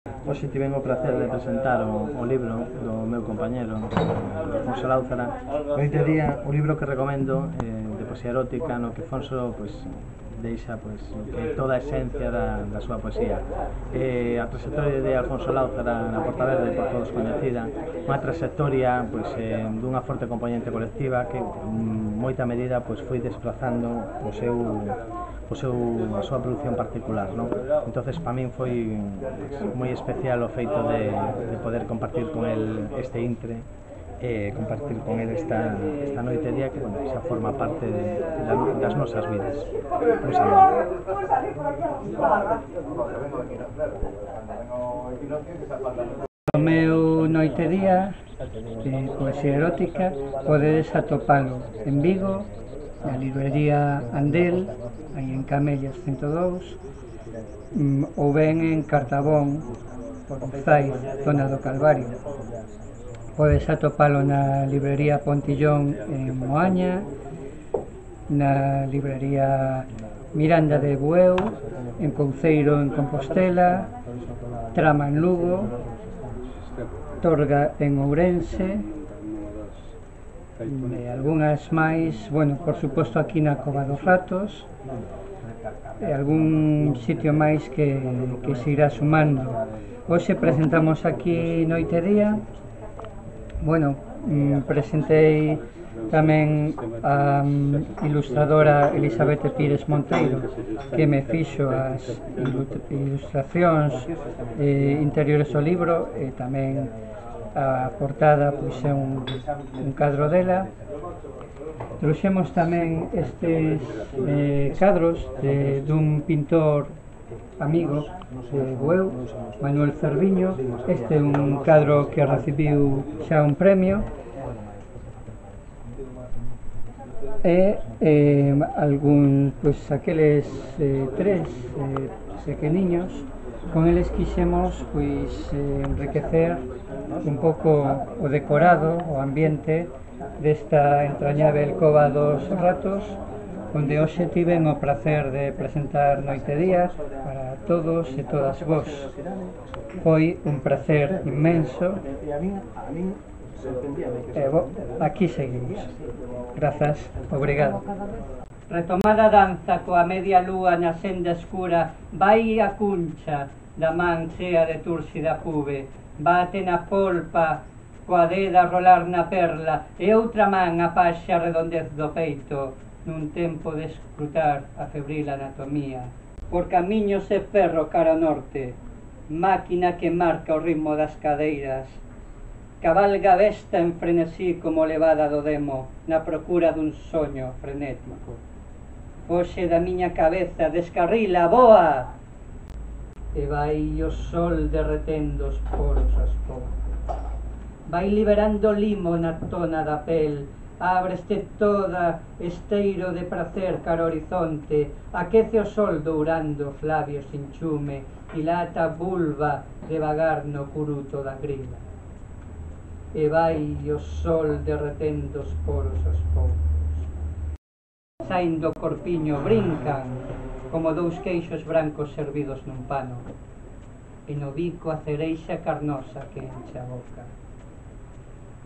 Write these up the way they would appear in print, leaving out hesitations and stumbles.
Hoxe tiven o placer de presentar o libro do meu compañero Alfonso Láuzara. Noite día, o libro que recomendo de poesía erótica, no que Alfonso deixa que toda a esencia da súa poesía. A trayectoria de Alfonso Láuzara na Porta Verde, por todos coñecida, unha trayectoria dunha forte componente colectiva que en moita medida foi desplazando a súa produción particular, non? Entonces, para min foi moi especial o feito de poder compartir con el este intre, compartir con el esta noite día que, xa forma parte das nosas vidas. Un saludo. O meu noite día de poesía erótica podedes atopalo en Vigo, na librería Andel, aí en Camellas 102, ou ben en Cartabón, por Zai, zona do Calvario. Podes atopalo na librería Pontillón en Moaña, na librería Miranda de Bueu, en Couceiro en Compostela, Trama en Lugo, Torga en Ourense, e algunhas máis, por suposto aquí na Cova dos Ratos, e algún sitio máis que se irá sumando. Hoxe presentamos aquí noite día, presentei tamén a ilustradora Elisabete Pires Monteiro, que me fixo as ilustracións interiores ao libro, e tamén a portada é un cadro dela. Trouxemos tamén estes cadros dun pintor amigo de Bueu, Manuel Cerviño. Este é un cadro que recibiu xa un premio, e aqueles tres pequeniños, con eles quixemos enriquecer un pouco o decorado, o ambiente desta entrañável Cova dos Ratos, onde hoxe tiven o placer de presentar noite día para todos e todas vos. Foi un placer inmenso e aquí seguimos. Grazas, obrigado. Retomada a danza coa media lúa na senda escura, vai a cuncha da man chea de túrsida pube, bate na polpa coa deda a rolar na perla, e outra man apaxa a redondez do peito nun tempo de escrutar a febril anatomía. Por camiños e ferro cara ao norte, máquina que marca o ritmo das cadeiras, cabalga besta en frenesí como levada do demo, na procura dun soño frenético. Foxe da miña cabeza, descarrila, boa! E vai o sol derretendo os poros aos poucos. Vai liberando limo na tona da pel, ábreste toda esteiro de pracer cara ao horizonte, aquece o sol dourando os labios sin chume, dilata a vulva devagar no curuto da grila. E vai o sol derretendo os poros aos poucos. Saen do corpiño, brincan como dous queixos brancos servidos nun pano, e no bico a cereixa carnosa que enche a boca.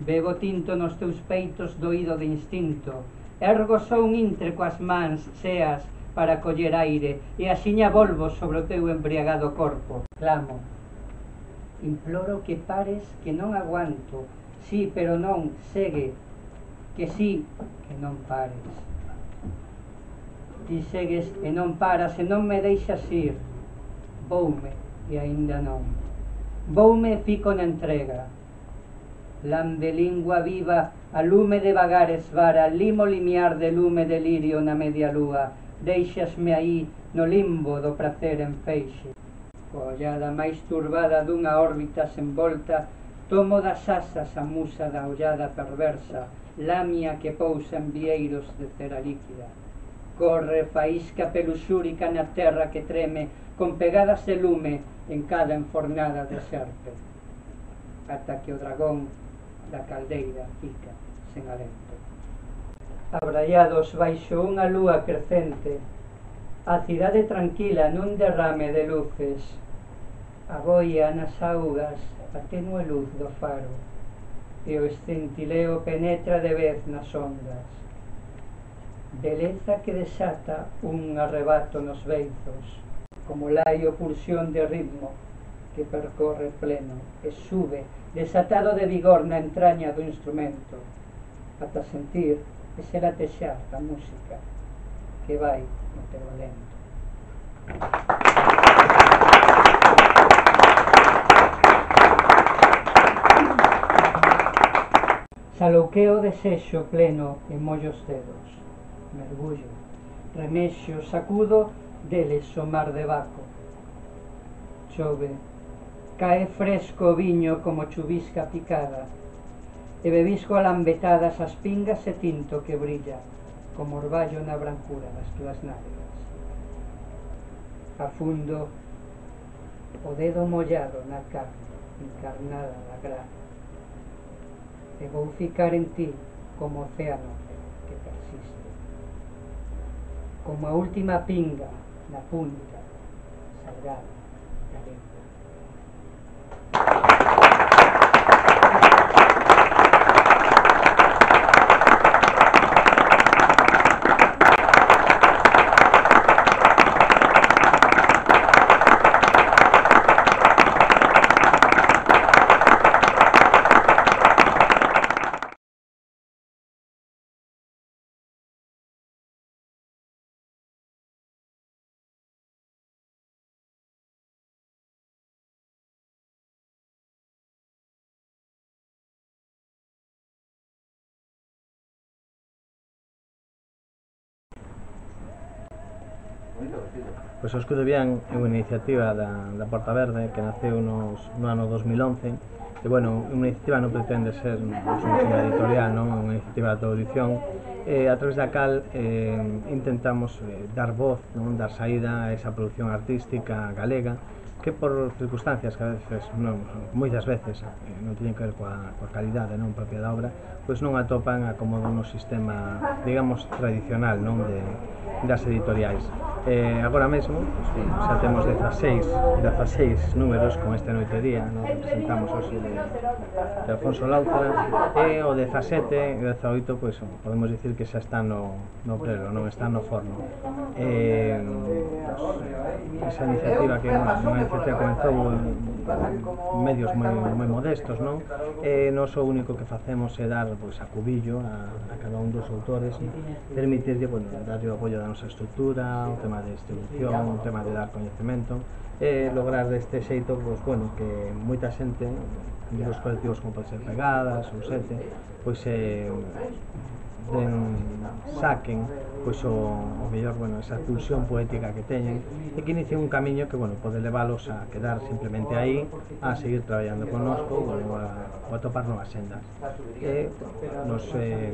Bebo tinto nos teus peitos doído de instinto, ergo só un intre coas mans cheas para coller aire, e axiña volvo sobre o teu embriagado corpo. Clamo, imploro que pares, que non aguanto, sí, pero non, segue, que sí, que non pares. Ti segues e non paras, e non me deixas ir. Voume, e aínda non. Voume e fico na entrega. Lambe lingua viva, a lume devagar esvara, limo limiar de lume delirio na media lúa. Deixasme aí no limbo do pracer en feixe. Coa ollada máis turbada dunha órbita sen volta, tomo das asas a musa da ollada perversa, lamia que pousa en vieiros de cera líquida. Corre faísca peluxúrica na terra que treme, con pegadas de lume en cada enfornada de serpe, ata que o dragón da caldeira fica sen alento. Abraiados baixo unha lúa crecente, a cidade tranquila nun derrame de luces, A boia nas augas a tenue luz do faro e o escintileo penetra de vez nas ondas. Beleza que desata un arrebato nos beizos, como laio pulsión de ritmo que percorre pleno e sube desatado de vigor na entraña do instrumento ata sentir ese latexar da música que vai no teu alento. Salouqueo desexo pleno e mollo os dedos, mergullo, remexo, sacudo deles o mar de Baco. Chove, cae fresco o viño como chuvisca picada e bebisco a lambetadas as pingas e tinto que brilla como orballo na brancura das túas nalgas. Afundo o dedo mollado na carne encarnada da grana e vou ficar en ti como océano que persiste, como a última pinga na punta salgada da lengua. Pois o Escudo Bian é unha iniciativa da Porta Verde que naceu no ano 2011 e, bueno, unha iniciativa non pretende ser unha editorial, non? Unha iniciativa de audición a través da cal intentamos dar voz, non? Dar saída a esa produción artística galega que por circunstancias que a veces, non, moitas veces non teñen que ver coa calidade non propia da obra, pois non atopan acomodo no sistema, digamos, tradicional, non, das editoriais. Agora mesmo, pois, xa temos 16 números con este Noite e Día, non representamos hoxe de Alfonso Lautara, e o 17 e o 18, pois, podemos dicir que xa está no prelo, non está no forno. Esa iniciativa que unha iniciativa comenzou en medios moi modestos, non? Nós o único que facemos é dar, pois, a cubillo a cada un dos autores, permitirlle, bueno, darlle o apoio da nosa estrutura, o tema de distribución, o tema de dar coñecemento e lograr deste xeito, pois, bueno, que moita xente dos colectivos como pode ser Pegadas ou Sete, pois saquen pois o mellor, bueno, esa pulsión poética que teñen e que inicien un camiño que, bueno, pode leválos a quedar simplemente aí, a seguir traballando connosco, bueno, a topar novas sendas. E nos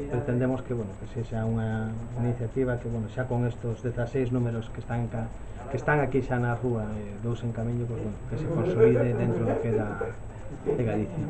pretendemos que, bueno, que sexa unha iniciativa que, bueno, xa con estos 16 números que están aquí xa na rúa e dous en camiño, pues, bueno, que se consolide dentro do que da de Galicia.